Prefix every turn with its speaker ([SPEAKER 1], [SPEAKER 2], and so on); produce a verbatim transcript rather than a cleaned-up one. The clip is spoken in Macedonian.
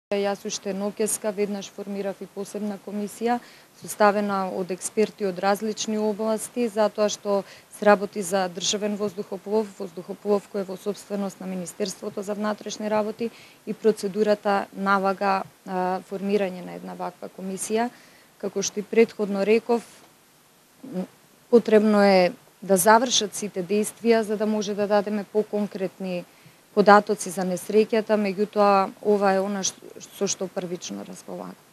[SPEAKER 1] Јас уште ноќеска веднаш формирав и посебна комисија, составена од експерти од различни области, затоа што се работи за државен воздухоплов, воздухоплов кој е во сопственост на Министерството за внатрешни работи и процедурата налага а, формирање на една ваква комисија. Како што и претходно реков, потребно е да завршат сите действија за да може да дадеме поконкретни податоци за несреќата, меѓутоа ова е она со што првично располагам.